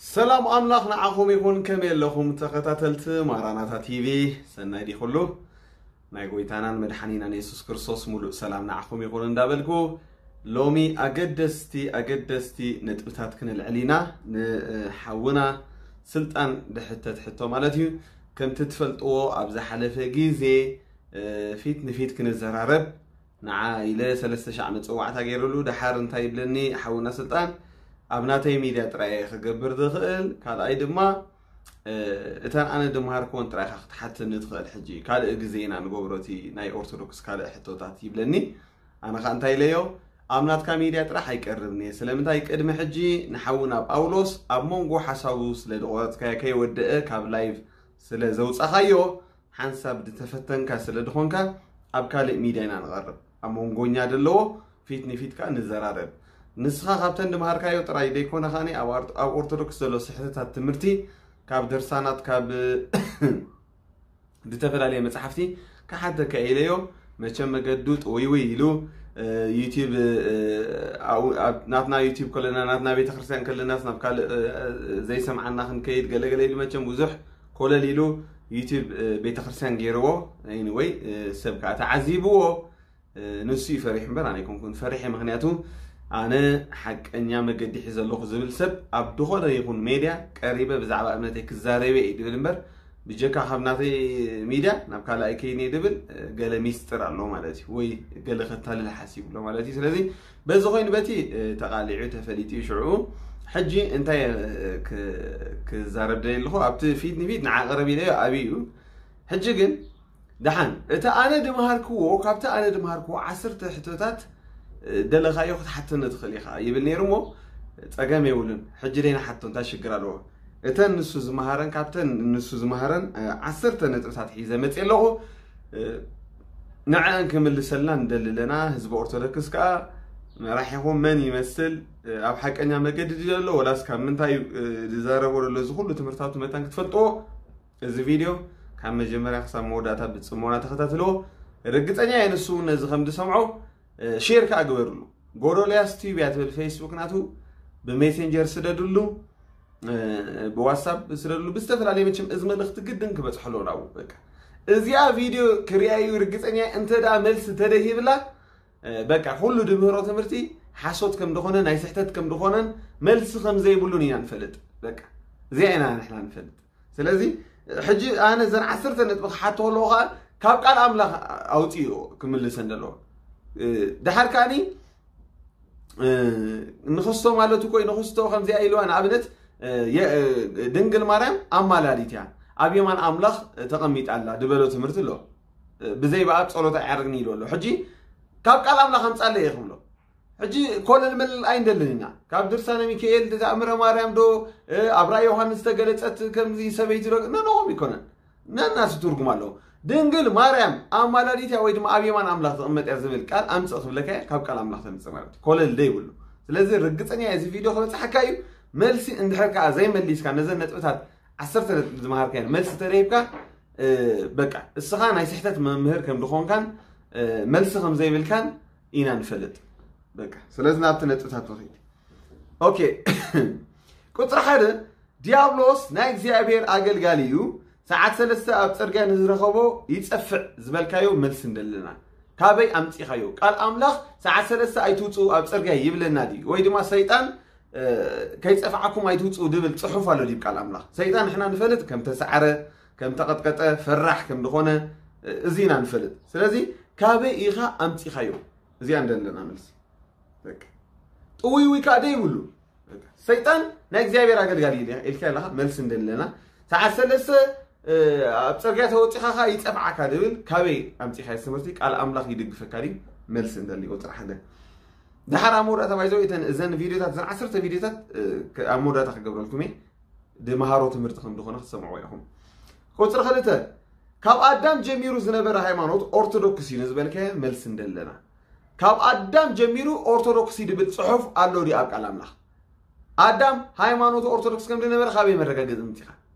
ሰላም ኣምላኽ ንዓኹም ይኹን። ከመይ ኣለኹም ተኸታተልቲ ማራናታ ቲቪ? ሰናይ ድዩ ኩሉ? ናይ ጎይታናን መድሓኒናን የሱስ ክርስቶስ ሙሉእ ሰላም ንዓኹም ይኹን እንዳበልኩ፣ ሎሚ ኣገደስቲ ኣገደስቲ ነጥብታት ክነልዕል ኢና። ንሓውና ስልጣን ድሕተት ሕቶ ማለት እዩ። ከምቲ ትፈልጥዎ ኣብ ዝሓለፈ ግዜ ፊት ንፊት ክንዘራረብ ንዓ ኢለ ሰለስተ ሻዕ መጸዋዕታ ገይረሉ። ደሓር እንታይ ይብለኒ ሓውና ስልጣን፣ ኣብ ናተይ ሚድያ ጥራይ እየ ክገብር ዝኽእል፣ ካልኣይ ድማ እተን ኣነ ድምሃርክወን ጥራይ ኢኻ ክትሓትኒ ትኽእል፣ ሕጂ ካልእ ግዜ ኢና ንገብሮ እቲ ናይ ኦርቶዶክስ ካልእ ሕቶታት ይብለኒ። ኣነ ኸኣ እንታይ ኢለዮ፣ ኣብ ናትካ ሚድያ ጥራሕ ኣይቀርብን እየ። ስለምንታይ? ቅድሚ ሕጂ ንሓውና ጳውሎስ ኣብ መንጎ ሓሳቡ ስለ ዝቖረጽካዮ፣ ከይወደአ ካብ ላይቭ ስለ ዘውጻኻዮ፣ ሓንሳብ ዝተፈተንካ ስለ ዝኾንካ ኣብ ካልእ ሚድያ ኢና ንቐርብ። ኣብ መንጎኛ ዘለዎ ፊት ንፊት ከኣ ንዘራረብ። ንስኻ ካብተን ድምሃርካዮ ጥራይ ደይኮነ ከኣ ኣብ ኦርቶዶክስ ዘሎ ስሕተታት ትምህርቲ ካብ ድርሳናት ካብ ዝተፈላለየ መጽሓፍቲ ክሓተካ ኢለዮ። መቸም መገዱ ጥውይውይ ኢሉ ዩቲብ ናትና ዩቲብ ከለና ናትና ቤተክርስትያን ከለናስ ናብ ካልእ ዘይሰምዓና ክንከይድ ገለገለ ኢሉ መቸም ብዙሕ ኮለል ኢሉ ዩቲብ ቤተክርስትያን ገይርዎ። ወይ ሰብ ከዓ ተዓዚብዎ። ንሱ እዩ ፈሪሕ እምበር ኣነ ኣይኮንኩን ፈሪሐ። ምክንያቱ ኣነ ሓቀኛ መገዲ ሒዘ ኣለኹ ዝብል ሰብ ኣብ ዝኾነ ይኹን ሜድያ ቀሪበ ብዛዕባ እምነተይ ክዛረበ እዩ ድብል እምበር ብጀካ ካብ ናተይ ሚድያ ናብ ካልኣይ ከይነ ድብል ገለ ሚስጥር ኣሎ ማለት እዩ፣ ወይ ገለ ከታልል ሓሲቡ ኣሎ ማለት እዩ። ስለዚ በዚ ኮይኑ በቲ ተቃሊዑ ተፈሊጡ እዩ። ሽዑ ሕጂ እንታይ ክዛረብ ደልየ ኣለኹ ኣብቲ ፊት ንፊት ንዓቐረብ ኢለዮ ኣብዩ። ሕጂ ግን ደሓን እቲ ኣነ ድምሃርክዎ ካብቲ ኣነ ድምሃርክዎ ዓሰርተ ሕቶታት ደለኻዮ ክትሓተኒ ትኽእል ኢኻ ይብል ነይሩ እሞ ጸገም የብሉን። ሕጂ ደይ ንሓቶ እንታይ ሽግር ኣለዎ? እተን ንሱ ዝመሃረን ካብተን ንሱ ዝመሃረን ዓሰርተ ነጥብታት ሒዘ መጽእ ኣለኹ። ንዕአን ክምልሰልና ንደሊ ኣለና። ህዝቢ ኦርቶዶክስ ከዓ መራሒኹም መን ይመስል? ኣብ ሓቀኛ መገዲ ድዩ ዘሎ ወላስ ካብ ምንታይ ዝዛረቦ ዘሎ? እዚ ኩሉ ትምህርታዊ መታን ክትፈልጥዎ እዚ ቪድዮ ካብ መጀመርያ ክሳብ መወዳእታ ብጽሞና ተኸታትልዎ። ርግጸኛ እየ ንሱ እውን ነዚ ከም ዝሰምዖ ሼር ከዓ ግበርሉ። ጎዶልያስ ቲዩብ እያ ትብል ፌስቡክ ናቱ ብሜሴንጀር ስደድሉ፣ ብዋትሳፕ ስደድሉ፣ ብዝተፈላለየ መቸም እዚ መልእኽቲ ግድን ክበጽሖ ኣለዎ ናብኡ። በቃ እዚኣ ቪድዮ ክሪኣዩ ርግጸኛ እየ። እንተ ደኣ መልሲ ተደሂብላ በቃ ኩሉ ድምህሮ ትምህርቲ ሓሶት ከም ዝኾነ ናይ ስሕተት ከም ዝኾነን መልሲ ከም ዘይብሉን ኢና ንፈልጥ። በቃ እዚኣ ኢና ንሕና ንፈልጥ። ስለዚ ሕጂ ኣነ ዘን ዓሰርተ ነጥቢ ክሓቶ ከለኹ ከዓ ካብ ቃል ኣምላኽ ኣውፅኡ ክምልሰን ዘለዎ። ድሓር ከዓኒ ንክስቶ ማለት እኮ እዩ ንክስቶ ከምዚኣ ኢልዋ ንኣብነት ድንግል ማርያም ኣማላዲት እያ ኣብ የማን ኣምላኽ ተቐሚጣ ኣላ ድበሎ ትምህርቲ ኣሎ። ብዘይ ብኣብ ጸሎት ኣይዓርግን ኢሉ ኣሎ። ሕጂ ካብ ቃል ኣምላኽ ኣምጻለይ እየ ክብሎ። ሕጂ ኮለል መለል ኣይንደልን ኢና። ካብ ድርሳነ ሚካኤል ተኣምረ ማርያም ዶ ኣብ ራእይ ዮሃንስ ተገለጸት ከምዚ ሰበይቲ ዶ ነነዎም ይኮነን። ነናስ ትርጉም ኣለዎ። ድንግል ማርያም ኣማላዲት እያ ወይ ድማ ኣብ የማን ኣምላኽ ትቕመጥ እያ ዝብል ቃል ኣምጽእ ክብለካ እየ፣ ካብ ቃል ኣምላኽ ተምጽእ ማለት እዩ። ኮለል ደይብሉ። ስለዚ ርግጸኛ እየ እዚ ቪድዮ ክበጽሓካ እዩ። መልሲ እንድሕር ከኣ ዘይመሊስካ ነዘን ነጥብታት ዓሰርተ ነጥቢ ዝመሃርካየን መልሲ ተረሂብካ በቃ እስኻ ናይ ስሕተት መምህር ከም ዝኾንካን መልሲ ከም ዘይብልካን ኢና ንፈልጥ። በቃ ስለዚ ናብቲ ነጥብታት ንኺድ። ኦኬ ቁፅሪ ሓደ ዲያብሎስ ናይ እግዚኣብሔር ኣገልጋሊ እዩ። ሰዓት ሰለስተ ኣብ ፅርግያ ንዝረኸቦ ይፀፍዕ ዝበልካዮ መልሲ እንደለና ካበይ ኣምፂኻዮ? ቃል ኣምላኽ ሰዓት ሰለስተ ኣይትውፅኡ ኣብ ፅርግያ ይብለና ድዩ? ወይ ድማ ሰይጣን ከይፀፍዓኩም ኣይትውፅኡ ድብል ፅሑፍ ኣሎ ድዩ ቃል ኣምላኽ? ሰይጣን ንሕና ንፈልጥ ከም ተሰዓረ ከም ተቐጥቀጠ ፈራሕ ከም ዝኾነ እዚ ኢና ንፈልጥ። ስለዚ ካበይ ኢኻ ኣምፂኻዮ? እዚኣ እንደለና መልሲ ጥውይውይ ከዓ ደይብሉ። ሰይጣን ናይ እግዚኣብሔር ኣገልጋሊ ኢልካ ኣለካ መልሲ እንደለና ሰዓት ሰለስተ ኣብ ፅርግያ ተወፂኻ ከዓ ይፀፍዓካ ድብል ካበይ ኣምፂኻ ትምህርቲ ቃል ኣምላኽ ይድግፈካ ድዩ? መልሲ እንደሊ ቁፅሪ ሓደ። ድሓር ኣብ መወዳእታ ባይዘው እተን እዘን ቪድዮታት እዘን ዓሰርተ ቪድዮታት ኣብ መወዳእታ ክገብረልኩም እየ። ድመሃሮ ትምህርቲ ከም ዝኾነ ክትሰምዕዎ ኢኹም። ቁፅሪ ክልተ ካብ ኣዳም ጀሚሩ ዝነበረ ሃይማኖት ኦርቶዶክስ እዩ ንዝበልካዮ መልሲ እንደለና ካብ ኣዳም ጀሚሩ ኦርቶዶክስ እዩ ድብል ፅሑፍ ኣሎ ድዩ ኣብ ቃል ኣምላኽ? ኣዳም ሃይማኖቱ ኦርቶዶክስ ከም ዝነበረ ካበይ መረጋገፂ ምፂኻ?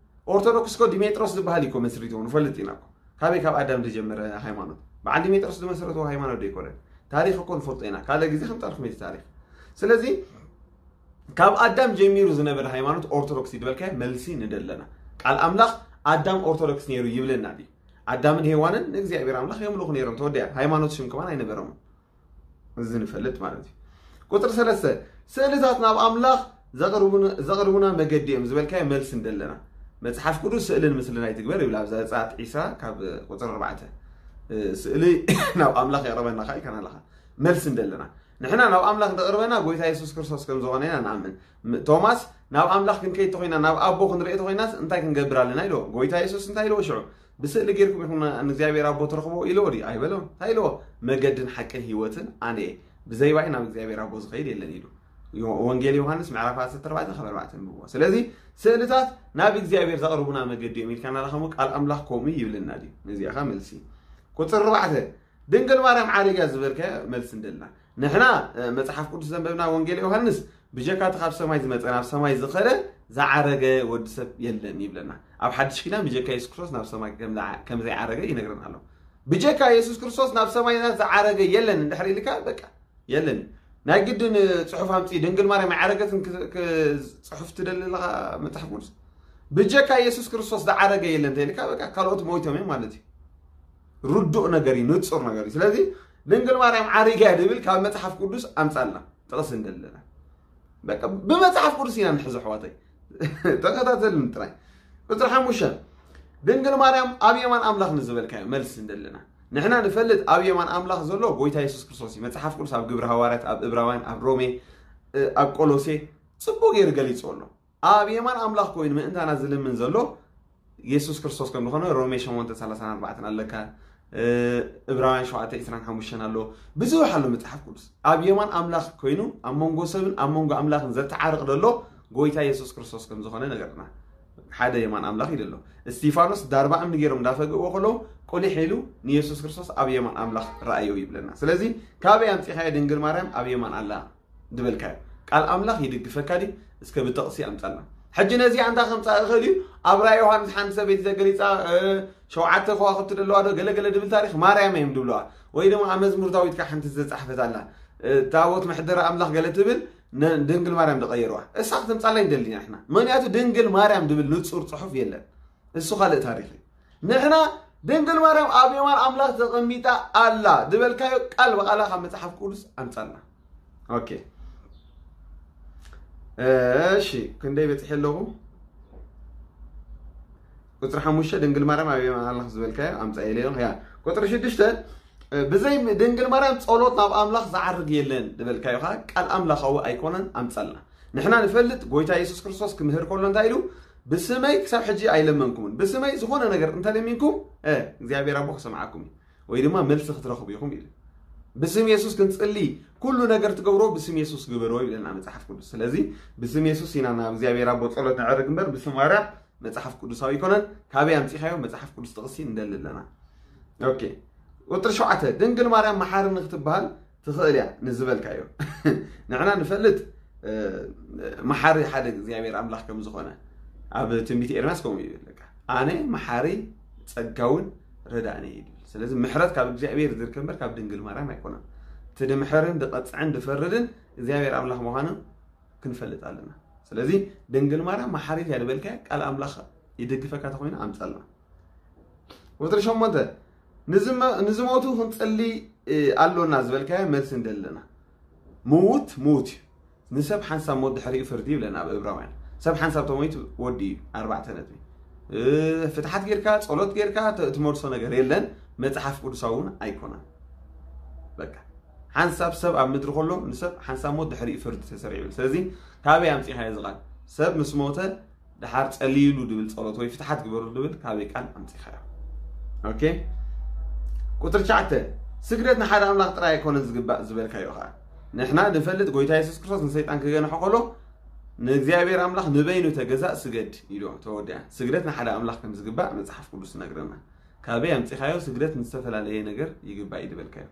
ኦርቶዶክስ ኮ ዲሜጥሮስ ዝበሃል እኮ መስሪትዎ ንፈልጥ ኢና እኮ። ካበይ ካብ ኣዳም ዝጀመረ ሃይማኖት? በዓል ዲሜጥሮስ ዝመሰረትዎ ሃይማኖት ዶ ይኮነን? ታሪክ እኮ ንፈልጦ ኢና። ካልእ ግዜ ከምፃልኩም እቲ ታሪክ። ስለዚ ካብ ኣዳም ጀሚሩ ዝነበረ ሃይማኖት ኦርቶዶክስ እዩ ዝበልካዮ መልሲ ንደለና። ቃል ኣምላኽ ኣዳም ኦርቶዶክስ ነይሩ ይብለና ድዩ? ኣዳምን ሄዋንን ንእግዚኣብሔር ኣምላኽ የምልኹ ነይሮም። ተወዲኣ። ሃይማኖት ሽም ከማን ኣይነበሮምን። እዚ ንፈልጥ ማለት እዩ። ቁፅሪ ሰለስተ፣ ስእልታት ናብ ኣምላኽ ዘቕርቡን- ዘቕርቡና መገዲ እዮም ዝበልካዮ መልሲ ንደለና። መጽሓፍ ቅዱስ ስእልን ምስልን ኣይትግበር ይብል ኣብ ዘጸኣት ዒስራ ካብ ቁፅሪ ኣርባዕተ። ስእሊ ናብ ኣምላኽ የቕርበና ከ ኢልካና ኣለኻ። መልሲ ንደለና። ንሕና ናብ ኣምላኽ ዘቕርበና ጎይታ የሱስ ክርስቶስ ከም ዝኾነ ኢና ንኣምን። ም- ቶማስ ናብ ኣምላኽ ክንከይድ ተኾይና ናብ ኣቦ ክንርኢ ተኾይናስ እንታይ ክንገብር ኣለና ኢልዎ። ጎይታ የሱስ እንታይ ኢልዎ ሽዑ? ብስእሊ ጌርኩም ኢኹም ንእግዚኣብሔር ኣቦ ትረኽቦ ኢልዎ ድዩ? ኣይበሎን። እንታይ ኢልዎ? መገድን ሓቅን ህይወትን ኣነ እየ። ብዘይ ባይ ናብ እግዚኣብሔር ኣቦ ዝኸይድ የለን ኢሉ። ዮ- ወንጌል ዮሃንስ ምዕራፍ ዓሰርተ ኣርባዕተ ካብ ኣርባዕተ ንብዎ። ስለዚ ስእልታት ናብ እግዚኣብሔር ዘቕርቡና መገዲ እዮም ኢልካና ኣለኻ እሞ ቃል ኣምላኽ ከምኡ ይብልና ድዩ? ነዚኣ ኸ መልሲ። ቁፅሪ ኣርባዕተ፣ ድንግል ማርያም ዓሪጋ ዝበልካዮ መልሲ እንደልና። ንሕና እ፣ መጽሓፍ ቅዱስ ዘንበብና ወንጌል ዮሃንስ ብጀካ እቲ ካብ ሰማይ ዝመጸ ናብ ሰማይ ዝኸደ ዝዓረገ ወዲ ሰብ የለን ይብለና። ኣብ ሓድሽ ኪዳን ብጀካ የሱስ ክርስቶስ ናብ ሰማይ ከም ዝዓ- ከም ዘይዓረገ ይነግረና ኣሎ። ብጀካ የሱስ ክርስቶስ ናብ ሰማያት ዝዓረገ የለን እንድሕር ኢልካ በቃ የለን። ናይ ግድን ጽሑፍ ኣምጺ ድንግል ማርያም ኣይዓረገትን ክ- ክ- ጽሑፍ ትደሊ ኣለኻ መጽሓፍ ቅዱስ። ብጀካ የሱስ ክርስቶስ ዝዓረገ የለን ተይልካ በቃ ካልኦት ሞይቶም እዮም ማለት እዩ። ርዱእ ነገር እዩ፣ ንጹር ነገር እዩ። ስለዚ ድንግል ማርያም ዓሪጋ እያ ድብል ካብ መጽሓፍ ቅዱስ ኣምጻልና ጥቕሲ እንደለና። በቃ ብመጽሓፍ ቅዱስ ኢና ንሕዞ ኣሕዋተይ። ተኸታተልን ጥራይ። ቁፅሪ ሓሙሽተ፣ ድንግል ማርያም ኣብ የማን ኣምላኽ ንዝበልካዮ መልሲ እንደለና። ንሕና ንፈልጥ ኣብ የማን ኣምላኽ ዘሎ ጎይታ የሱስ ክርስቶስ እዩ። መጽሓፍ ቅዱስ ኣብ ግብሪ ሃዋርያት፣ ኣብ እብራውያን፣ ኣብ ሮሜ፣ እ፣ ኣብ ቆሎሴ ጽቡቅ ገይሩ ገሊጹ ኣሎ። ኣብ የማን ኣምላኽ ኮይኑ ምእንታና ዝልምን ዘሎ የሱስ ክርስቶስ ከም ዝኾነ ሮሜ ሸሞንተ ሰላሳን ኣርባዕተን ኣለካ። እ፣ እብራውያን ሸውዓተ ዕስራን ሓሙሽተን ኣሎ። ብዙሕ ኣሎ መጽሓፍ ቅዱስ። ኣብ የማን ኣምላኽ ኮይኑ ኣብ መንጎ ሰብን ኣብ መንጎ ኣምላኽን ዘተዓርቕ ዘሎ ጎይታ የሱስ ክርስቶስ ከም ዝኾነ ነገርና። ሓደ የማን ኣምላኽ እዩ ዘሎ። እስቲፋኖስ ዳርባ እምኒ ገይሮም እንዳፈግእዎ ከለዉ ቁሊሕ ኢሉ ንየሱስ ክርስቶስ ኣብ የማን ኣምላኽ ረኣዮ ይብለና። ስለዚ ካበይ ኣምጺኻዮ ድንግል ማርያም ኣብ የማን ኣላ? ዝበልካዮ ቃል ኣምላኽ ይድግፈካ ድዩ? እስከ ብጥቕሲ ኣምጻልና። ሕጂ ነዚኣ እንታይ ከምጻእ እኽእል እዩ? ኣብ ራእይ ዮሃንስ ሓንቲ ሰበይቲ ተገሊጻ፣ እ፣ ሸውዓተ ከዋኽብቲ ደለዋ ዶ ገለ ገለ ድብል ታሪኽ ማርያም እዮም ድብለዋ። ወይ ድማ ኣብ መዝሙር ዳዊት ከ ሓንቲ ዝተጻሕፈት ኣላ። እ፣ ታቦት መሕደሪ ኣምላኽ ገለ ትብል ነ- ድንግል ማርያም ዝቐየርዋ። እሳ ክትምጻልና ይደሊ ኢና ንሕና። ምኽንያቱ ድንግል ማርያም ድብል ንጹር ጽሑፍ የለን። እሱ ካልእ ታሪኽ እዩ። ንሕና ድንግል ማርያም ኣብ የማን ኣምላኽ ተቐሚጣ ኣላ ዝበልካዮ ቃል ብቓላ ካብ መጽሓፍ ቅዱስ ኣምጻልና። ኦኬ። እሺ፣ ክንደይ በጺሐ ኣለኹ? ቁፅሪ ሓሙሽተ ድንግል ማርያም ኣብ የማን ኣምላኽ ዝበልካዮ ኣምጻ ኢለ ኣለኹ። ያ ቁፅሪ ሽዱሽተ እ፣ ብዘይ ድንግል ማርያም ጸሎት ናብ ኣምላኽ ዝዓርግ የለን ዝበልካዮ ኸዓ ቃል ኣምላኻዊ ኣይኮነን ኣምጻልና። ንሕና ንፈልጥ ጎይታ የሱስ ክርስቶስ ክምህር ከሎ እንታይ ኢሉ? ብስመይ ክሳብ ሕጂ ኣይለመንኩምን። ብስመይ ዝኾነ ነገር እንተለሚንኩም እ፣ እግዚኣብሔር ኣቦ ክሰምዓኩም እዩ። ወይ ድማ መልሲ ክትረኽቡ ኢኹም ኢሉ። ብስም የሱስ ክንጽሊ ኩሉ ነገር ትገብሮ ብስም የሱስ ግበሮ ይብለና መጽሓፍ ቅዱስ። ስለዚ ብስም የሱስ ኢና ናብ እግዚኣብሔር ኣቦ ጸሎት ነዕርግ እምበር ብስም ማርያም መጽሓፍ ቅዱሳዊ ኣይኮነን። ካበይ ኣምጺኻዮ መጽሓፍ ቅዱስ ጥቕሲ እንደሊ ኣለና። ኦኬ። ቁጥሪ ሸውዓተ ድንግል ማርያም መሓሪ ንክትበሃል ትኽእል እያ ንዝበልካዮ ንሕና ንፈልጥ። እ፣ መሓሪ ሓደ እግዚኣብሔር ኣምላኽ ከም ዝኾነ ኣብ ትንቢት ኤርምያስ ከምኡ ይብል። በቃ ኣነ መሓሪ ጸጋውን ረዳእን እየ ይብል። ስለዚ ምሕረት ካብ እግዚኣብሔር ዝርከብ እምበር ካብ ድንግል ማርያም ኣይኮነን። እቲ ድምሕርን ድቐጽዕን ድፈርድን እግዚኣብሔር ኣምላኽ ምዃኑ ክንፈልጥ ኣለና። ስለዚ ድንግል ማርያም መሓሪት እያ ዝበልካዮ ቃል ኣምላኽ ይድግፈካ ተኾይኑ ኣምጻልና። ቁፅሪ ሸሞንተ ንዝመ- ንዝሞቱ ክንጽሊ እ፣ ኣሎና ዝበልካዮ መልሲ እንደለና። ምዉት ምዉት እዩ። ንሰብ ሓንሳብ ሞት ድሕሪኡ ፍርዲ ይብለና ኣብ እብራውያን። ሰብ ሓንሳብ ተሞይቱ ወዲ እዩ። ኣርባዕተ ነጥቢ። እ፣ ፍትሓት ጌርካ ጸሎት ጌርካ ተ- ትመልሶ ነገር የለን። መጽሓፍ ቅዱሳዊ እውን ኣይኮነን። በቃ ሓንሳብ ሰብ ኣብ ምድሪ ከሎ ንሰብ ሓንሳብ ሞት ድሕሪኡ ፍርዲ ተሰሪዑ። ስለዚ ካበይ ኣምጺኻዮ እዚ ቃል? ሰብ ምስ ሞተ ደሓር ጸልይሉ ድብል ጸሎት ወይ ፍትሓት ግበሩ ድብል ካበይ ቃል ኣምጺኻዮ? ኦኬ። ቁጥሪ ትሽዓተ ስግደት ንሓደ ኣምላኽ ጥራይ ኣይኮነን ዝግባእ ዝበልካዮ ኸዓ ንሕና ንፈልጥ ጎይታ የሱስ ክርስቶስ ንሰይጣን ክገንሖ ከሎ ንእግዚኣብሔር ኣምላኽ ንበይኑ ተገዛእ ስገድ ኢሉ ተወዲኣ። ስግደት ንሓደ ኣምላኽ ከም ዝግባእ መጽሓፍ ቅዱስ ይነግረና። ካበይ ኣምጺኻዮ ስግደት ንዝተፈላለየ ነገር ይግባእ እዩ ዝበልካዮ?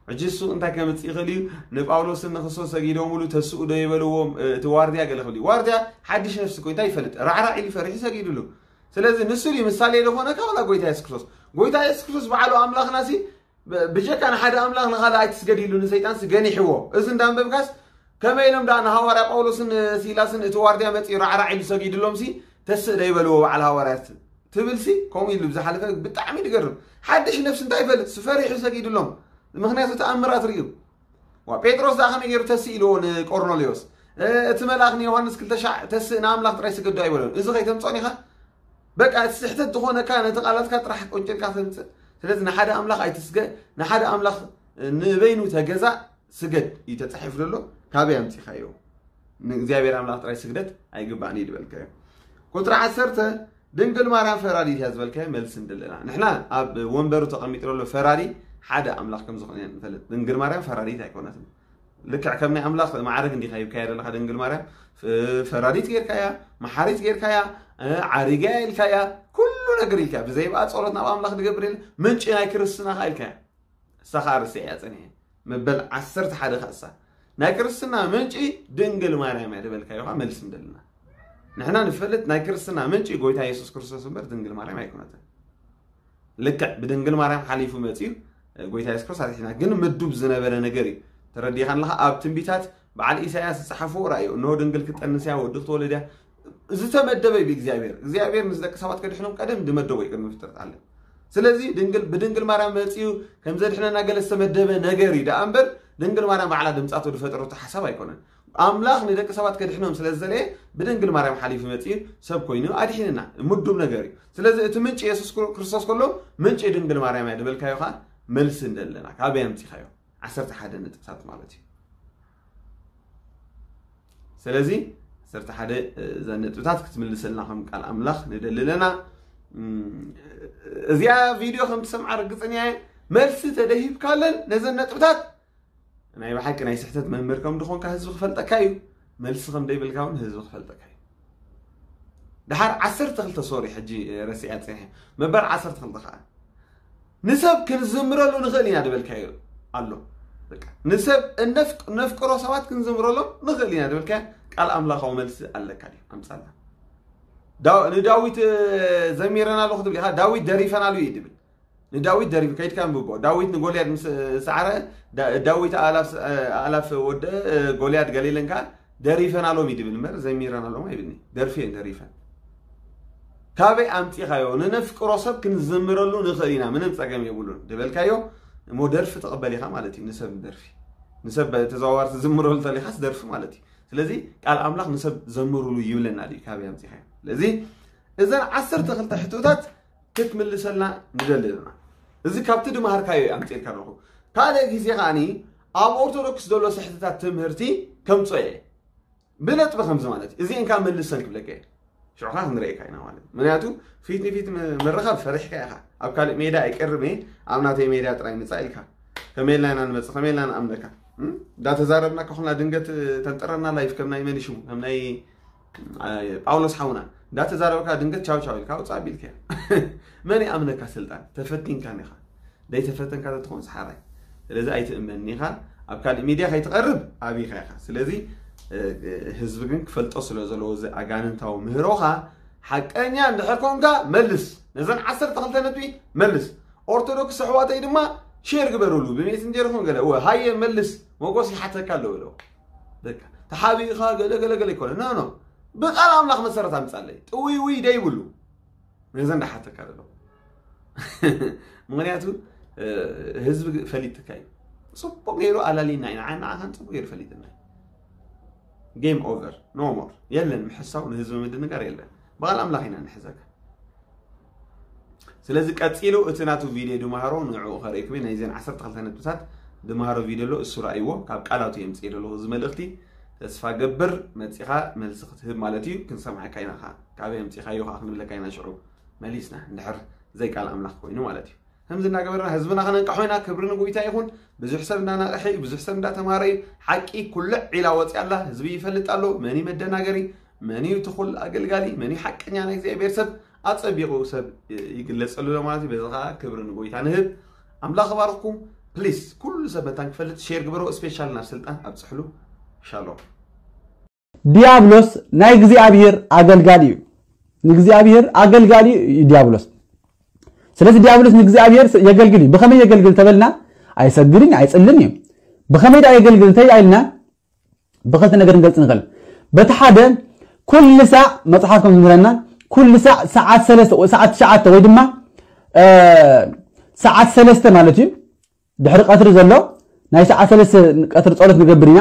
ሕጂ እሱ እንታይ ከምጽእ ይኽእል እዩ? ንጳውሎስን ንክርስቶስ ሰጊዶምሉ ተስኡ ዶ ይበልዎም? እ፣ እቲ ዋርድያ ገለ ክብል እዩ። ዋርድያ ሓድሽ ነፍሲ እኮ እንታይ ይፈልጥ? ራዕራዕ ኢሉ ፈሪሑ ሰጊዱሉ። ስለዚ ንሱ ድዩ ምሳሌ ዝኾነ? ካባላ ጎይታ የሱስ ክርስቶስ። ጎይታ የሱስ ክርስቶስ በዓሉ ኣምላኽና ሲ ብ- ብጀካ ንሓደ ኣምላኽ ንኻልእ ኣይትስገድ ኢሉ ንሰይጣን ሲ ገኒሕዎ። እዚ እንዳንበብካስ ከመይ ኢሎም ደኣ ንሃዋርያ ጳውሎስን ሲላስን እቲ ዋርድያ መጺኡ ራዕራዕ ኢሉ ሰጊድሎም ሲ ተስእ ዶ ይበልዎ በዓል ሃዋርያት ትብል ሲ ከምኡ ኢሉ ብዝሓለፈ ብጣዕሚ ድገርም። ሓድሽ ነፍሲ እንታይ ይፈልጥ ሲ ፈሪሑ ሰጊድሎም። ምኽንያቱ ተኣምራት ርእዩ። ዋ ጴጥሮስ ደኣ ከመይ ገይሩ ተስእ ኢልዎ ንቆርኔሌዎስ እቲ መልኣኽ ንዮሃንስ ክልተ ሻዕ ተስእ ንኣምላኽ ጥራይ ስገዶ ኣይበሎን። እዚ ከይተምጾን ኢኻ በቃ እቲ ስሕተት ዝኾነካ ነቲ ቃላትካ ጥራሕ ቆንጨልካ ተምጽእ። ስለዚ ንሓደ ኣምላኽ ኣይትስገ፣ ንሓደ ኣምላኽ ንበይኑ ተገዛእ ስገድ እዩ ተጻሒፉ ዘሎ። ካበይ ኣምጺኻዮ? ንእግዚኣብሔር ኣምላኽ ጥራይ ስግደት ኣይግባእን እዩ ዝበልካዮ። ቁፅሪ ዓሰርተ ድንግል ማርያም ፈራዲት እያ ዝበልካዮ መልሲ እንደለና ንሕና ኣብ ወንበሩ ተቐሚጡ ዘሎ ፈራዲ ሓደ ኣምላኽ ከም ዝኾነ ንፈልጥ። ድንግል ማርያም ፈራዲት ኣይኮነትን። ልክዕ ከም ናይ ኣምላኽ ማዕረግ እንዲኻ ሂብካያ ዘለኻ ድንግል ማርያም ፈራዲት ጌርካያ፣ መሓሪት ጌርካያ፣ ዓሪጋ ኢልካያ፣ ኩሉ ነገር ኢልካያ። ብዘይብኣ ጸሎት ናብ ኣምላኽ ንገብር የለ ምንጪ ናይ ክርስትና ካ ኢልካያ። እሳ ኸዓ ርስዕ እያ ጸኒሐ። መበል ዓሰርተ ሓደ ኸእሳ ናይ ክርስትና ምንጪ ድንግል ማርያም እያ ዝበልካዮ ኸዓ መልሲ እንደልና። ንሕና ንፈልጥ ናይ ክርስትና ምንጪ ጎይታ የሱስ ክርስቶስ እምበር ድንግል ማርያም ኣይኮነትን። ልክዕ ብድንግል ማርያም ሓሊፉ መጺኡ ጎይታ የሱስ ክርስቶስ ኣድሒና። ግን ምዱብ ዝነበረ ነገር እዩ። ተረዲኻን ኣለኻ? ኣብ ትንቢታት በዓል ኢሳያስ ዝጸሓፍዎ ራእዩ፣ እነሆ ድንግል ክትጠንስ እያ፣ ወዲ ክትወልድ እያ። ዝተመደበ እዩ ብእግዚኣብሔር። እግዚኣብሔር ምስ ደቂ ሰባት ከድሕኖም ቀደም ዝመደቦ እዩ ቅድሚ ፍጥረት ዓለም። ስለዚ ድንግል ብድንግል ማርያም መጺኡ ከም ዘድሕነና ገለ ዝተመደበ ነገር እዩ ደኣ እምበር ድንግል ማርያም ባዕላ ድምጻ ተወዲ ፈጠረቶ ሓሳብ ኣይኮነን። ኣምላኽ ንደቂ ሰባት ከድሕኖም ስለ ዝደለየ ብድንግል ማርያም ሓሊፉ መጺኡ ሰብ ኮይኑ ኣድሒንና። ምዱብ ነገር እዩ። ስለዚ እቲ ምንጪ የሱስ ክር- ክርስቶስ ከሎ ምንጪ ድንግል ማርያም እያ ዝበልካዮ ከዓ መልሲ እንደለና ካበይ ኣምጺኻዮ? ዓሰርተ ሓደ ነጥብታት ማለት እዩ። ስለዚ ዓሰርተ ሓደ እዘን ነጥብታት ክትምልሰልና ከም ቃል ኣምላኽ ንደሊ ኣለና። እዚኣ ቪድዮ ከም ትሰምዓ ርግፅን እየ። መልሲ ተደሂብካለን ነዘን ነጥብታት ናይ ብሓቂ ናይ ስሕተት መምህር ከም ድኾንካ ህዝቢ ክፈልጠካ እዩ። መልሲ ከም ደይብልካ እውን ህዝቢ ክፈልጠካ እዩ። ድሓር ዓሰርተ ክልተ ሶሪ ሕጂ ረሲዐ ፅንሐ መበር ዓሰርተ ክልተ ከዓ ንሰብ ክንዝምረሉ ንኽእል ኢና ድበልካዮ ኣሎ። ንሰብ ነፍቅሮ ሰባት ክንዝምረሎም ንኽእል ኢና ድበልካዮ ቃል ኣምላኻዊ መልሲ ኣለካ ድዩ? ኣምፃልና። ንዳዊት ዘሚረናሉ ክትብል ኢኻ። ዳዊት ደሪፈናሉ እዩ ድብል። ንዳዊት ደሪፍ ከይድካ ንብቦ ዳዊት ንጎልያድ ምስ ሰዓረ ዳዊት ኣላፍ ወደ ጎልያድ ገሊልን ከዓ ደሪፈናሎም እዩ ድብል እምበር ዘሚረናሎም ኣይብልኒ። ደርፊ እየን ደሪፈን። ካበይ ኣምፂኻዮ? ንነፍቅሮ ሰብ ክንዝምረሉ ንኽእል ኢና፣ ምንም ፀገም የብሉን ድበልካዮ እሞ ደርፊ ተቐበል ኢኻ ማለት እዩ። ንሰብ ደርፊ ንሰብ ተዘዋዋርቲ ዝምረሉ ተሊኻስ ደርፊ ማለት እዩ። ስለዚ ቃል ኣምላኽ ንሰብ ዘምሩሉ ይብለና ድዩ? ካበይ ኣምፂኻዮ? ስለዚ እዘን ዓሰርተ ክልተ ሕቶታት ክትምልሰልና ንደሊ ዘለና። እዚ ካብቲ ድመሃርካዮ እዩ ኣምፂእልካ ኣለኹ። ካልእ ግዜ ከዓኒ ኣብ ኦርቶዶክስ ዘሎ ስሕተታት ትምህርቲ ከምፆ እየ ብነጥቢ ከምዚ ማለት እዩ። እዚአን ካብ መልሰን ክብለካ እየ። ሽዑ ከዓ ክንርእየካ ኢና ማለት እዩ። ምክንያቱ ፊት ንፊት ም- ምርኻብ ፈሪሕካ ኢኻ። ኣብ ካልእ ሜዳ ኣይቀርብ እየ። ኣብ ናተይ ሜዳ ጥራይ ምፃእ ኢልካ ከመይ ኢልና ኢና ንመፅእ? ከመይ ኢልና ንኣምነካ? እም? እንዳተዛረብና ከኹልና ድንገት ተንጥረና ላይፍ ከም ናይ መን ሽሙ ከም ናይ ጳውሎስ ሓውና እንዳተዛረብካ ድንገት ቻው ቻው ኢልካ ውፃእ ቢልካ መን ይኣምነካ? ስልጣን ተፈቲንካ ኒኻ ደይተፈተንካ ተትኾን ሰሓራይ። ስለዚ ኣይትእመን ኒኻ። ኣብ ካልእ ሚድያ ከይትቐርብ ኣቢኻ ኢኻ። ስለዚ ህዝቢ ግን ክፈልጦ ስለ ዘለዎ እዚ ኣጋንንታዊ ምህሮኻ ሓቀኛ እንድሕር ኮንካ መልስ። ነዘን ዓሰርተ ክልተ ነጥቢ መልስ። ኦርቶዶክስ ኣሕዋተይ ድማ ሼር ግበሩሉ ብሜስንጀር ይኹን ገለ እወ ሃየ መልስ። መጎስ ይሓተካ ኣለዎ ኢለዎ። በቃ ተሓቢእኻ ገለ ገለ ገለ ይኮነ ኖ ኖ ብቃል ኣምላኽ መሰረት ኣምጻለይ ጥውይውይ ደይብሉ። ነዘ እንዳሓተካ ዘሎ ምክንያቱ ህዝቢ ፈሊጥካ እዩ። ፅቡቅ ገይሩ ኣላሊና ኢና ንዓኻን ፅቡቅ ገይሩ ፈሊጥና። ጌም ኦቨር ኖ ሞር የለን። ምሕሳው ንህዝቢ ምድንጋር የለን። ብቃል ኣምላኽ ኢና ንሕዘካ። ስለዚ ቀፂሉ እቲ ናቱ ቪድዮ ድማሃሮ ንዕኡ ከርእየኩም እየ። ናይዘን ዓሰርተ ክልተ ነጥብታት ድማሃሮ ቪድዮ ኣሎ፣ እሱ ረኣይዎ። ካብ ቃላቱ የምፅእ ዘለኹ እዚ መልእኽቲ። ተስፋ ገብር መፂኻ መልሲ ክትህብ ማለት እዩ። ክንሰምዓካ ኢና። ካ- ካበይ ኣምፂኻዮ ከዓ ክንብለካ ኢና ሽዑ መሊስና፣ እንድሕር ዘይቃል ኣምላኽ ኮይኑ ማለት እዩ። ከምዚ እናገበርና ህዝብና ከነንቅሖ ኢና። ክብሪ ንጎይታ ይኹን። ብዙሕ ሰብ እንዳነቕሐ እዩ፣ ብዙሕ ሰብ እንዳተማሃረ እዩ። ሓቂ ኩልዕ ኢላ ወፂኣ ኣላ። ህዝቢ ይፈልጥ ኣሎ። መን እዩ መደናገሪ፣ መን እዩ ትኹል ኣገልጋሊ፣ መን እዩ ሓቀኛ ናይ እግዚኣብሔር ሰብ ኣፀቢቑ ሰብ ይግለፀሉ ኣሎ ማለት እዩ። በዚ ከዓ ክብሪ ንጎይታ ንህብ። ኣምላኽ ባርኽኩም። ፕሊስ ኩሉ ሰብ መታን ክፈልጥ ሼር ግበሮ። ስፔሻል ናብ ስልጣን ኣብፅሕሉ። ሻሎም። ዲያብሎስ ናይ እግዚኣብሔር ኣገልጋሊ እዩ። ንእግዚኣብሔር ኣገልጋሊ እዩ ዲያብሎስ። ስለዚ ዲያብሎስ ንእግዚኣብሔር የገልግል እዩ። ብኸመይ የገልግል ተበልና ኣይሰግድን ኣይጽልን እዩ። ብኸመይ ደኣ የገልግል እንተ ኢልና ብኸልተ ነገር ንገልጽ ንኽእል። በቲ ሓደ፣ ኩሉ ሳዕ መጽሓፍ ከም ዝምህረና፣ ኩሉ ሳዕ ሰዓት ሰለስተ ወይ ሰዓት ትሽዓተ ወይ ድማ፣ እ፣ ሰዓት ሰለስተ ማለት እዩ። ድሕሪ ቀትሪ ዘሎ ናይ ሰዓት ሰለስተ ቀትሪ ጸሎት ንገብር ኢና።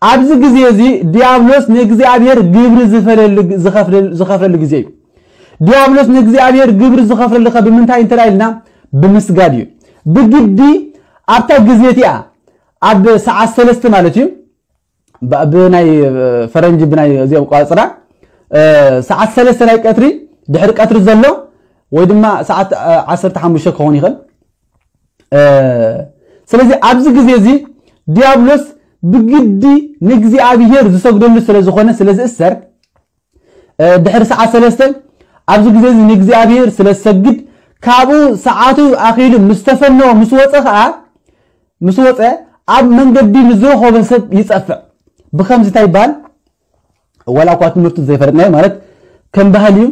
ኣብዚ ግዜ እዚ ዲያብሎስ ንእግዚኣብሔር ግብሪ ዝፈለሉ፣ ዝኸፍለሉ፣ ዝኸፍለሉ ግዜ እዩ። ዲያብሎስ ንእግዚኣብሔር ግብሪ ዝኸፍለሉ ከ ብምንታይ እንተ ኢልና፣ ብምስጋድ እዩ። ብግዲ ኣብታ ግዜ እቲኣ፣ ኣብ ሰዓት ሰለስተ ማለት እዩ፣ ብ-፣ ብናይ ፈረንጂ፣ ብናይ እዚኦም ቆጻጽራ፣ እ፣ ሰዓት ሰለስተ ናይ ቀትሪ፣ ድሕሪ ቀትሪ ዘሎ ወይ ድማ ሰዓት፣ እ፣ ዓሰርተ ሓሙሽተ ክኸውን ይኽእል። እ፣ ስለዚ ኣብዚ ግዜ እዚ ዲያብሎስ ብግዲ ንእግዚኣብሔር ዝሰግደሉ ስለ ዝኾነ፣ ስለ ዝእሰር፣ እ፣ ድሕሪ ሰዓት ሰለስተ ኣብዚ ግዜ እዚ ንእግዚኣብሔር ስለ ዝሰግድ፣ ካብኡ ሰዓቱ ኣኺሉ ምስ ተፈነወ፣ ምስ ወጸ ኸኣ፣ ምስ ወጸ ኣብ መንገዲ ንዝረኸቦ ሰብ ይጸፍዕ። ብኸምዚ እንታይ ይበሃል? ዋላ እኳ ትምህርቱ ዘይፈለጥናዮ ማለት ከም ባህሊ እዩ።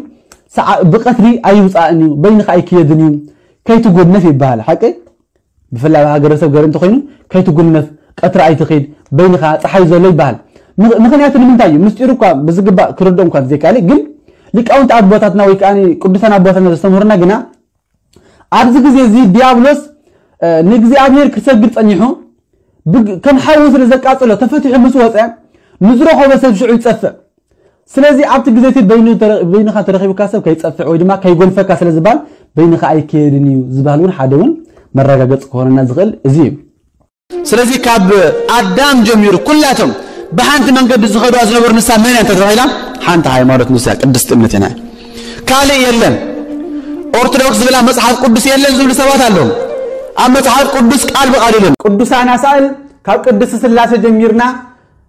ሰዓ-፣ ብቐትሪ ኣይውጻእን እዩ፣ በይንኻ ኣይክየድን እዩ፣ ከይትጎነፍ ይበሃል። ሓቂ? ብፍላይ ኣብ ሃገረሰብ ገር እንተኾይኑ፣ ከይትጉነፍ፣ ቀትሪ ኣይትኺድ፣ በይንኻ ጸሓይ ዘሎ ይበሃል። ምኽ-፣ ምኽንያቱ ንምንታይ እዩ? ምስጢሩ እኳ ብዝግባእ ክርድኦም እኳ ዘይከኣለ፣ ግን ሊቃውንቲ ኣቦታትና ወይ ከኣ ቅዱሳን ኣቦታትና ዘስተምህሩና ግና፣ ኣብዚ ግዜ እዚ ዲያብሎስ፣ እ፣ ንእግዚኣብሔር ክሰግድ ጸኒሑ፣ ብግ-፣ ከም ሓዊ ስለ ዘቃጽሎ፣ ተፈቲሑ ምስ ወጸ፣ ንዝረኸቦ ሰብ ሽዑ ይጸፍዕ። ስለዚ ኣብቲ ግዜ እቲ በይኑ ተረ-፣ በይንኻ ተረኺቡካ ሰብ ከይጸፍዕ ወይ ድማ ከይጎንፈካ ስለ ዝበሃል፣ በይንኻ ኣይከየድን እዩ ዝበሃል እውን ሓደ እውን መረጋገጺ ክኾነና ዝኽእል እዚ እዩ። ስለዚ ካብ ኣዳም ጀሚሩ ኩላቶም ብሓንቲ መንገዲ ዝኸዱዋ ዝነበሩ ንሳ መን እያ እንተተባሂላ፣ ሓንቲ ሃይማኖት ንሳ ቅድስቲ እምነት ኢና። ካልእ የለን። ኦርቶዶክስ ዝብላ መጽሓፍ ቅዱስ የለን ዝብሉ ሰባት ኣለዉ። ኣብ መጽሓፍ ቅዱስ ቃል ብቃል የለን። ቅዱሳን ኣሳእል ካብ ቅድስቲ ስላሴ ጀሚርና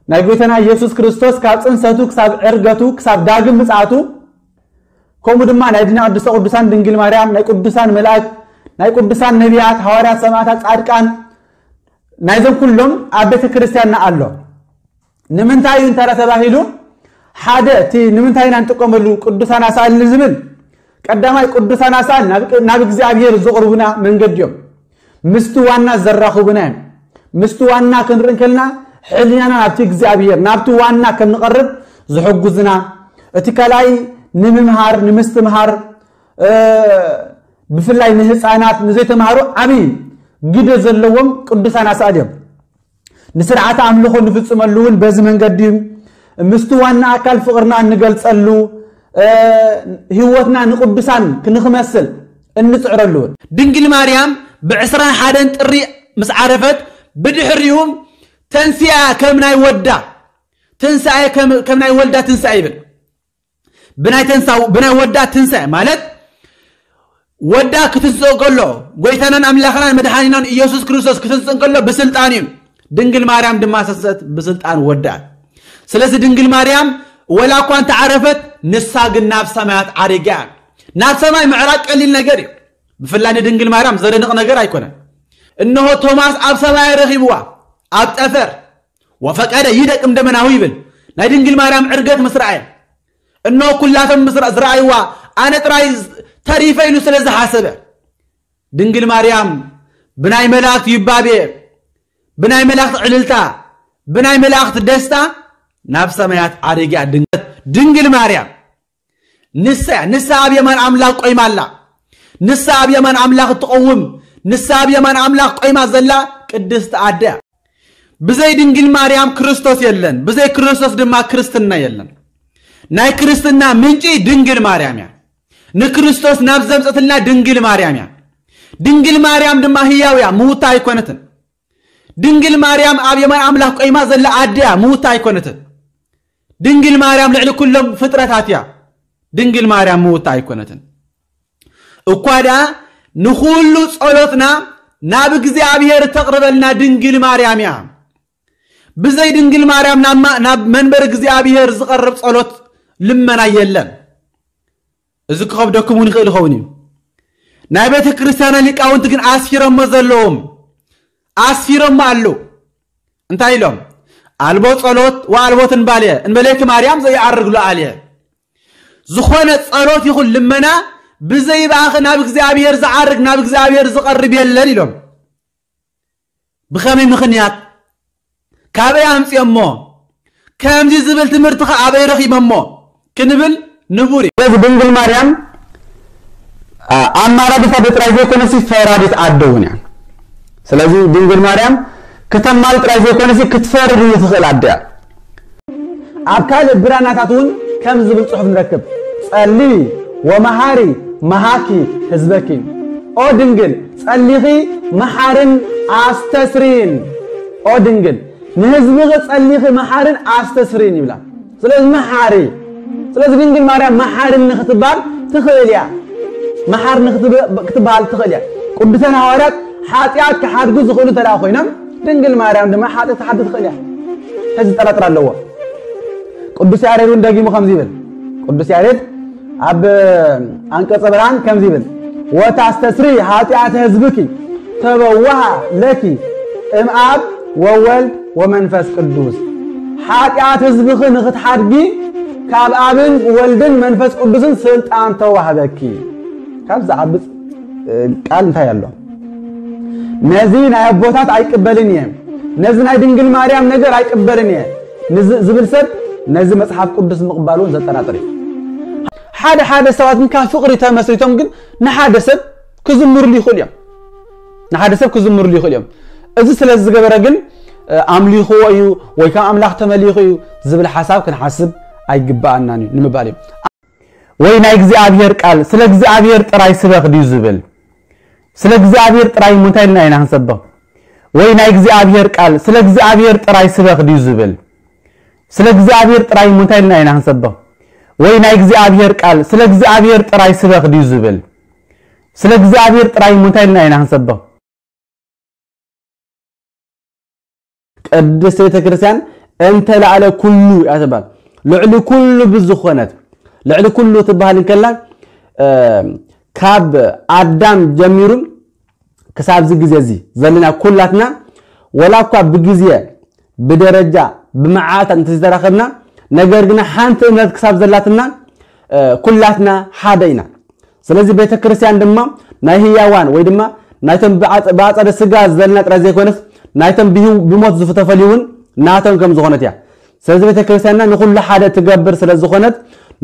ናይ ጎይታና ኢየሱስ ክርስቶስ ካብ ጽንሰቱ ክሳብ ዕርገቱ ክሳብ ዳግም ምጽኣቱ፣ ከምኡ ድማ ናይ ድና ቅድስተ ቅዱሳን ድንግል ማርያም፣ ናይ ቅዱሳን መላእክት፣ ናይ ቅዱሳን ነቢያት፣ ሃዋርያት፣ ሰማዕታት፣ ጻድቃን፣ ናይዞም ኩሎም ኣብ ቤተ ክርስቲያንና ኣሎ። ንምንታይ እዩ እንተ ተባሂሉ፣ ሓደ እቲ ንምንታይ ኢና ንጥቀመሉ ቅዱሳን ኣሳእል ንዝብል፣ ቀዳማይ ቅዱሳን ኣሳእል ናብ፣ ናብ እግዚኣብሔር ዝቕርቡና መንገዲ እዮም። ምስቲ ዋና ዘራኽቡና እዮም። ምስቲ ዋና ክንርኢ እንከልና፣ ሕሊናና ናብቲ እግዚኣብሔር፣ ናብቲ ዋና ከም ንቐርብ ዝሕጉዝና፣ እቲ ካልኣይ ንምምሃር፣ ንምስትምሃር፣ እ፣ ብፍላይ ንህፃናት፣ ንዘይተምሃሩ ዓብዪ ግደ ዘለዎም ቅዱሳን ኣሳእል እዮም። ንስርዓተ ኣምልኾ ንፍጽመሉ እውን በዚ መንገዲ እዩ። ምስቲ ዋና ኣካል ፍቕርና እንገልጸሉ፣ እ፣ ህይወትና ንቅዱሳን ክንክመስል እንጽዕረሉ እውን። ድንግል ማርያም ብዕስራን ሓደን ጥሪ ምስ ዓረፈት፣ ብድሕሪኡ ተንሲኣ ከም ናይ ወዳ ትንሳኤ፣ ከም፣ ከም ናይ ወልዳ ትንሳኤ ይብል። ብናይ ተንሳ-፣ ብናይ ወዳ ትንሳኤ ማለት ወዳ ክትንስእ ከሎ፣ ጎይታናን ኣምላኽናን መድሓኒናን ኢየሱስ ክርስቶስ ክትንስእ ከሎ ብስልጣን እዩ። ድንግል ማርያም ድማ ሰሰት ብስልጣን ወዳ። ስለዚ ድንግል ማርያም ወላ እኳ እንተዓረፈት፣ ንሳ ግን ናብ ሰማያት ዓሪጋ። ናብ ሰማይ ምዕራግ ቀሊል ነገር እዩ። ብፍላይ ንድንግል ማርያም ዘደንቕ ነገር ኣይኮነን። እነሆ ቶማስ ኣብ ሰማይ ረኺብዋ፣ ኣብ ጠፈር። "ወፈቀደ ይደቅም ደመናሁ" ይብል። ናይ ድንግል ማርያም ዕርገት ምስ ረኣየ፣ እነሆ ኩላቶም ምስ ረ-፣ ዝረኣይዋ፣ ኣነ ጥራይ ተሪፈ ኢሉ ስለ ዝሓሰበ፣ ድንግል ማርያም ብናይ መላእክት ይባቤ፣ ብናይ መላእክት ዕልልታ፣ ብናይ መላእክት ደስታ ናብ ሰማያት ዓሪጋ። ድንግል፣ ድንግል ማርያም ንሳ እያ። ንሳ ኣብ የማን ኣምላኽ ቆይማ ኣላ። ንሳ ኣብ የማን ኣምላኽ እትቐውም፣ ንሳ ኣብ የማን ኣምላኽ ቆይማ ዘላ ቅድስቲ ኣደ እያ። ብዘይ ድንግል ማርያም ክርስቶስ የለን፣ ብዘይ ክርስቶስ ድማ ክርስትና የለን። ናይ ክርስትና ምንጪ ድንግል ማርያም እያ። ንክርስቶስ ናብ ዘምጸትልና ድንግል ማርያም እያ። ድንግል ማርያም ድማ ህያው እያ፣ ምውታ ኣይኮነትን። ድንግል ማርያም ኣብ የማን ኣምላኽ ቆይማ ዘላ ኣደ እያ፣ ምውታ ኣይኮነትን። ድንግል ማርያም ልዕሊ ኩሎም ፍጥረታት እያ። ድንግል ማርያም ምውታ ኣይኮነትን። እኳ ደኣ ንኹሉ ጸሎትና ናብ እግዚኣብሔር እተቕርበልና ድንግል ማርያም እያ። ብዘይ ድንግል ማርያም ናብ ማ-፣ ናብ መንበር እግዚኣብሔር ዝቐርብ ጸሎት ልመና የለን። እዚ ክኸብደኩም እውን ይኽእል ይኸውን እዩ። ናይ ቤተ ክርስቲያና ሊቃውንቲ ግን ኣስፊሮሞ ዘለዎም፣ ኣስፊሮሞ ኣለዉ። እንታይ ኢሎም? "ኣልቦ ጸሎት ወኣልቦ ትንባልየ እንበሌኪ ማርያም ዘይዓርግ ሉዓልየ." ዝኾነ ጸሎት ይኹን ልመና ብዘይ ብኣኺ ናብ እግዚኣብሔር ዝዓርግ፣ ናብ እግዚኣብሔር ዝቐርብ የለን ኢሎም። ብኸመይ ምኽንያት? ካበይ ኣምጺኦሞ? ከምዚ ዝብል ትምህርቲ ከ ኣበይ ረኺበሞ ክንብል ንቡር እዩ። ስለዚ ድንግል ማርያም፣ ኣ፣ ኣማላዲት ኣደ ጥራይ ዘይኮነሲ ፈራዲት ኣደ እውን እያ። ስለዚ ድንግል ማርያም ክተማል ጥራይ ዘይኮነሲ ክትፈርድ እውን ትኽእል ኣደ እያ። ኣብ ካልእ ብራናታት እውን ከም ዝብል ጽሑፍ ንረክብ፣ "ጸሊ ወመሃሪ መሃኪ ህዝበኪ።" ኦ ድንግል፣ ጸሊኺ መሓርን ኣስተስሪን። ኦ ድንግል፣ ንህዝብኺ ጸሊኺ መሓርን ኣስተስሪን ይብላ። ስለዚ መሓሪ፣ ስለዚ ድንግል ማርያም መሓርን ንክትባል ትኽእል እያ። መሓር ንክትብ-፣ ክትበሃል ትኽእል እያ። ቅዱሳን ሃዋርያት ሓጢኣት ክሓድጉ ዝኽእሉ እንተ ደኣ ኮይኖም፣ ድንግል ማርያም ድማ ሓጢኣት ክትሓድግ ትኽእል እያ። ሕዚ ዝጠራጥር ኣለዎ። ቅዱስ ያሬድ እውን ደጊሙ ከምዚ ይብል። ቅዱስ ያሬድ ኣብ ኣንቀጸ ብርሃን ከምዚ ይብል፣ "ወታስተስሪ ኃጢአተ ሕዝብኪ ተበዋሃ ለኪ እምአብ ወወልድ ወመንፈስ ቅዱስ።" ሓጢኣት ህዝብኺ ንኽትሓድጊ ካብ ኣብን ወልድን መንፈስ ቅዱስን ስልጣን ተዋህበኪ። ካብ ዝዓብጽ፣ እ፣ ቃል እንታይ ኣሎ? "ነዚ ናይ ኣቦታት ኣይቅበልን እየ፣ ነዚ ናይ ድንግል ማርያም ነገር ኣይቅበልን እየ" ንዝ-፣ ዝብል ሰብ ነዚ መጽሓፍ ቅዱስ ምቕባሉ እውን ዘጠራጥር እዩ። ሓደ ሓደ ሰባት ግን ካብ ፍቕሪ ተመስሪቶም ግን ንሓደ ሰብ ክዝምርሉ ይኽእሉ እዮም። ንሓደ ሰብ ክዝምርሉ ይኽእሉ እዮም። እዚ ስለ ዝገበረ ግን፣ እ፣ ኣምሊኽዎ እዩ ወይ ካብ ኣምላኽ ተመሊኹ እዩ ዝብል ሓሳብ ክንሓስብ ኣይግብኣናን እዩ ንምባል እዩ። ወይ ናይ እግዚኣብሔር ቃል ስለ እግዚኣብሔር ጥራይ ስበኽ ድዩ ዝብል? ስለ እግዚኣብሔር ጥራይ እሞ እንታይ ኢልና ኢና ክንሰብኽ? ወይ ናይ እግዚኣብሔር ቃል ስለ እግዚኣብሔር ጥራይ ስበኽ ድዩ ዝብል? ስለ እግዚኣብሔር ጥራይ እሞ እንታይ ኢልና ኢና ክንሰብኽ? ወይ ናይ እግዚኣብሔር ቃል ስለ እግዚኣብሔር ጥራይ ስበኽ ድዩ ዝብል? ስለ እግዚኣብሔር ጥራይ እሞ እንታይ ኢልና ኢና ክንሰብኽ? ቅድስት ቤተ ክርስቲያን እንተ ላዕለ ኩሉ እያ ትባል። ልዕሊ ኩሉ ብዝኾነት፣ ልዕሊ ኩሉ ትባሃል እንከላ፣ እ፣ ካብ ኣዳም ጀሚሩ ክሳብ እዚ ግዜ እዚ ዘለና ኩላትና፣ ወላ እኳ ብግዜ፣ ብደረጃ፣ ብመዓልታት እንተዘይተራኸብና፣ ነገር ግና ሓንቲ እምነት ክሳብ ዘላትና፣ እ፣ ኩላትና ሓደ ኢና። ስለዚ ቤተ ክርስቲያን ድማ ናይ ህያዋን ወይ ድማ ናይቶም ብዓጸ-፣ ብኣጸደ ስጋ ዘለና ጥራይ ዘይኮነስ፣ ናይቶም ብህው-፣ ብሞት ዝተፈልዩ እውን ናቶም ከም ዝኾነት እያ። ስለዚ ቤተ ክርስቲያንና ንኹሉ ሓደ ትገብር ስለ ዝኾነት፣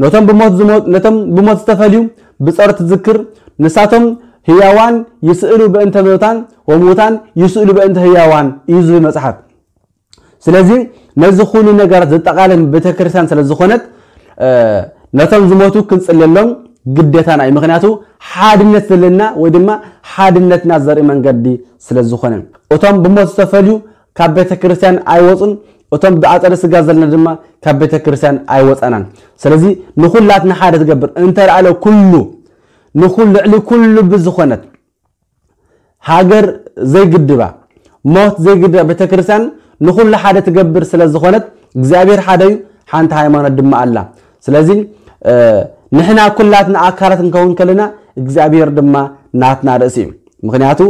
ነቶም ብሞት ዝሞ-፣ ነቶም ብሞት ዝተፈልዩ ብጸሎት ትዝክር፣ ንሳቶም ህያዋን ይስእሉ በእንተ ምውታን ወምውታን ይስእሉ በእንተ ህያዋን እዩ ዝብል መጽሓፍ። ስለዚ ነዚ ኩሉ ነገራት ዘጠቓልል ቤተ ክርስቲያን ስለ ዝኾነት፣ እ፣ ነቶም ዝሞቱ ክንጽልየሎም ግዴታና እዩ። ምኽንያቱ ሓድነት ዘለና ወይ ድማ ሓድነትና ዘርኢ መንገዲ ስለ ዝኾነ። እቶም ብሞት ዝተፈልዩ ካብ ቤተ ክርስቲያን ኣይወጹን፣ እቶም ብኣጸደ ስጋ ዘለና ድማ ካብ ቤተ ክርስቲያን ኣይወጻናን። ስለዚ ንኹላትና ሓደ ትገብር እንተ ላዕለ ኩሉ፣ ንኹሉ፣ ልዕሊ ኩሉ ብዝኾነት ሃገር ዘይግድባ፣ ሞት ዘይግድባ ቤተ ክርስቲያን ንኹሉ ሓደ ትገብር ስለ ዝኾነት፣ እግዚኣብሔር ሓደ እዩ፣ ሓንቲ ሃይማኖት ድማ ኣላ። ስለዚ፣ እ፣ ንሕና ኩላትና ኣካላት ክንከውን ከለና፣ እግዚኣብሔር ድማ ናትና ርእሲ እዩ። ምኽንያቱ፣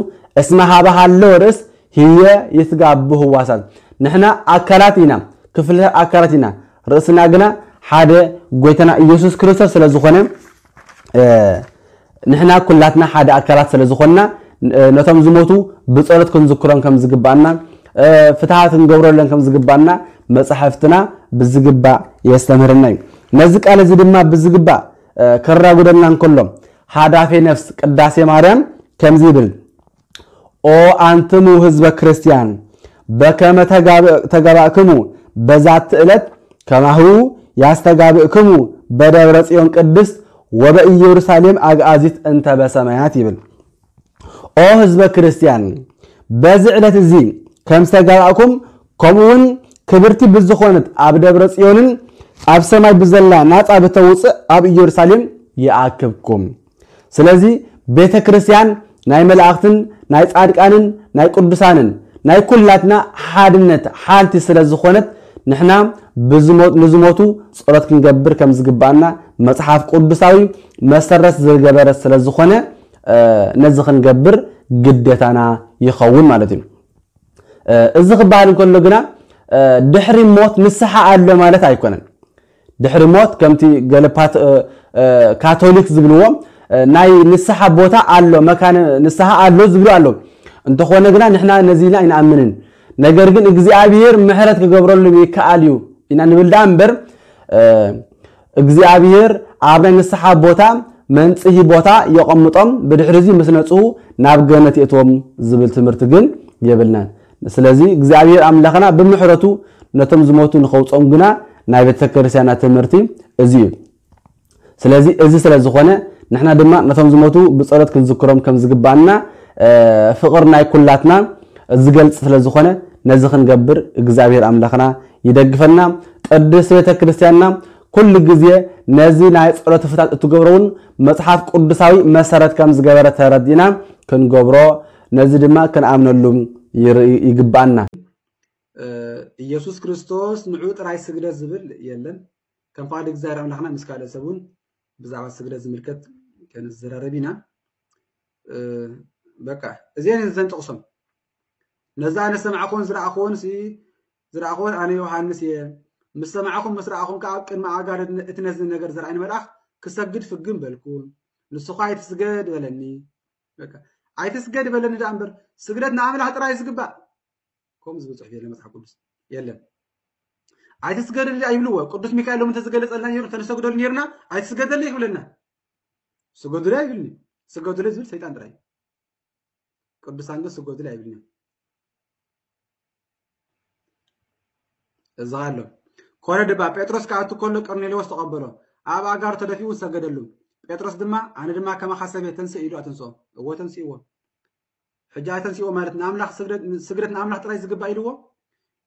"እስመ ሀበ ሃለወ ርእስ ህየ ይትጋቡ ህዋሳት።" ንሕና ኣካላት ኢና፣ ክፍልታት ኣካላት ኢና። ርእስና ግና ሓደ ጎይታና ኢየሱስ ክርስቶስ ስለ ዝኾነ፣ እ፣ ንሕና ኩላትና ሓደ ኣካላት ስለ ዝኾንና፣ እ፣ ነቶም ዝሞቱ ብጸሎት ክንዝክሮም ከም ዝግባኣና፣ እ፣ ፍትሓት ክንገብረለን ከም ዝግባኣና መጻሕፍትና ብዝግባእ የስተምህርና እዩ። ነዚ ቃል እዚ ድማ ብዝግባእ፣ እ፣ ከራጉደልና እንከሎ፣ ሃዳፌ ነፍስ ቅዳሴ ማርያም ከምዚ ይብል፣ "ኦ ኣንትሙ ህዝበ ክርስቲያን፣ በከመ ተጋብ-፣ ተጋባእክሙ በዛቲ ዕለት፣ ከማሁ ያስተጋብእክሙ በደብረ ጽዮን ቅድስት ወበኢየሩሳሌም አግአዚት እንተ በሰማያት" ይብል። ኦ ህዝበ ክርስቲያን፣ በዚ ዕለት እዚ ከም ዝተጋባእኩም፣ ከምኡውን ክብርቲ ብዝኾነት ኣብ ደብረ ጽዮንን ኣብ ሰማይ ብዘላ ናጻ ብተውጽእ ኣብ ኢየሩሳሌም ይኣክብኩም። ስለዚ ቤተ ክርስቲያን ናይ መላእኽትን ናይ ጻድቃንን ናይ ቅዱሳንን ናይ ኩላትና ሓድነት ሓንቲ ስለ ዝኾነት፣ ንሕና ብዝሞ-፣ ንዝሞቱ ጸሎት ክንገብር ከም ዝግባኣና መጽሓፍ ቅዱሳዊ መሰረት ዝገበረ ስለ ዝኾነ፣ እ፣ ነዚ ክንገብር ግዴታና ይኸውን ማለት እዩ። እ፣ እዚ ክበሃል እንከሎ ግና፣ እ፣ ድሕሪ ሞት ንስሓ ኣሎ ማለት ኣይኮነን። ድሕሪ ሞት ከምቲ ገለ ፓት-፣ እ፣ እ፣ ካቶሊክ ዝብልዎ፣ እ፣ ናይ ንስሓ ቦታ ኣሎ፣ መካነ ንስሓ ኣሎ ዝብሉ ኣለዉ። እንተኾነ ግና ንሕና ነዚ ኢልና ኣይንኣምንን። ነገር ግን እግዚኣብሔር ምሕረት ክገብረሉ ይከኣል እዩ። ኢና ንብል ደኣ እምበር እግዚኣብሔር ኣብ ናይ ንስሓ ቦታ መንጽሂ ቦታ የቐምጦም፣ ብድሕሪ እዚ ምስ ነጽሁ ናብ ገነት የእትዎም ዝብል ትምህርቲ ግን የብልናን። ስለዚ እግዚኣብሔር ኣምላኽና ብምሕረቱ ነቶም ዝሞቱ ንኸውጾም ግና ናይ ቤተክርስቲያና ትምህርቲ እዚ እዩ። ስለዚ እዚ ስለ ዝኾነ ንሕና ድማ ነቶም ዝሞቱ ብጸሎት ክንዝክሮም ከም ዝግባና ፍቕር ናይ ኩላትና ዝገልጽ ስለ ዝኾነ ነዚ ክንገብር እግዚኣብሔር ኣምላኽና ይደግፈና። ቅድስት ቤተ ክርስቲያንና ኩሉ ግዜ ነዚ ናይ ጸሎት ፍታት እትገብሮ እውን መጽሓፍ ቅዱሳዊ መሰረት ከም ዝገበረ ተረዲእና ክንገብሮ ነዚ ድማ ክንኣምነሉ ይግባኣና። ኢየሱስ ክርስቶስ ንዑ ጥራይ ስግደት ዝብል የለን። ከም ፍቓድ እግዚኣብሔር ኣምላኽና ምስ ካልእ ሰብ እውን ብዛዕባ ስግደት ዝምልከት ክንዘራረብ ኢና። በቃ እዚአን ዘንጠቕሶም ነዛ ኣነ ሰማዕኹን ዝረኣኹን ዝረኣኹን ኣነ ዮሃንስ እየ። ምስ ሰማዕኹም ምስ ረኣኹም ከዓ ኣብ ቅድሚ ኣጋር እቲ ነዚ ነገር ዝረኣይኒ መልኣኽ ክሰግድ ፍግም በልኩ። ንሱ ኸዓ ኣይትስገድ በለኒ። በቃ ኣይትስገድ በለኒ ደኣ እምበር ስግደት ንኣምላኽ ጥራይ ዝግባእ ከምኡ ዝብል ፅሑፍ የለን መፅሓፍ ቅዱስ የለን። ኣይትስገደሉ ኣይብልዎ። ቅዱስ ሚካኤል ሎም እንተዝገለፀልና ነይሩ እንተንሰግደሉ ነይርና ኣይትስገደሉ ይብለና። ስገዱሉ ኣይብልኒ። ስገዱሉ ዝብል ሰይጣን ጥራይ። ቅዱሳን ግን ስገዱሉ ኣይብልኒ። እዚ ኣሎ ኮነ ድባ ጴጥሮስ ክኣቱ ከሎ ቀርኔሌዎስ ተቐበሎ። ኣብ ኣጋሩ ተደፊኡ ሰገደሉ። ጴጥሮስ ድማ ኣነ ድማ ከማኻ ሰብ እየ ተንስእ ኢሉ ኣተንስኦ። እዎ ተንስእዎ። ሕጂ ኣተንስእዎ ማለት ንኣምላኽ ስግደት ንኣምላኽ ጥራይ ዝግባእ ኢልዎ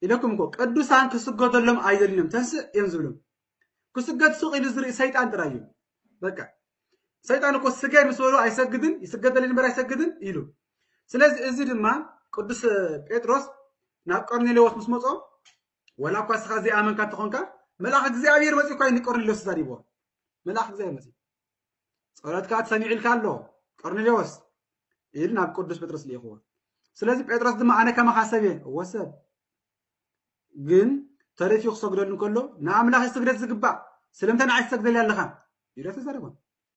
ኢለኩም እኮ ቅዱሳን ክስገደሎም ኣይደልዮም ተንስእ እዮም ዝብሎም። ክስገድ ሱቕ ኢሉ ዝርኢ ሰይጣን ጥራይ እዩ። በቃ ሰይጣን እኮ ስገድ ምስ በሎ ኣይሰግድን ይስገደለይ እምበር ኣይሰግድን ኢሉ። ስለዚ እዚ ድማ ቅዱስ ጴጥሮስ ናብ ቀርኔሌዎስ ምስ መጾ ወላ እኳ እስኻ ዘይኣመንካ እንተኾንካ መልኣኽ እግዚኣብሔር መጺኡ እኳ እዩ ንቀርኔሌዎስ ተዛሪብዎ። መልኣኽ እግዚኣብሔር መጺኡ ጸሎትካ ተሰሚዑ ኢልካ ኣሎ ቀርኔሌዎስ ኢሉ ናብ ቅዱስ ጴጥሮስ ልኢኽዎ። ስለዚ ጴጥሮስ ድማ ኣነ ከማኻ ሰብ እየ። እወ ሰብ ግን ተደፊኡ ክሰግደሉ እንከሎ ንኣምላኽ ስግደት ዝግባእ ስለምንታይ ንዓይ ትሰግደሊ ኣለኻ ኢሉ ተዛረቦ።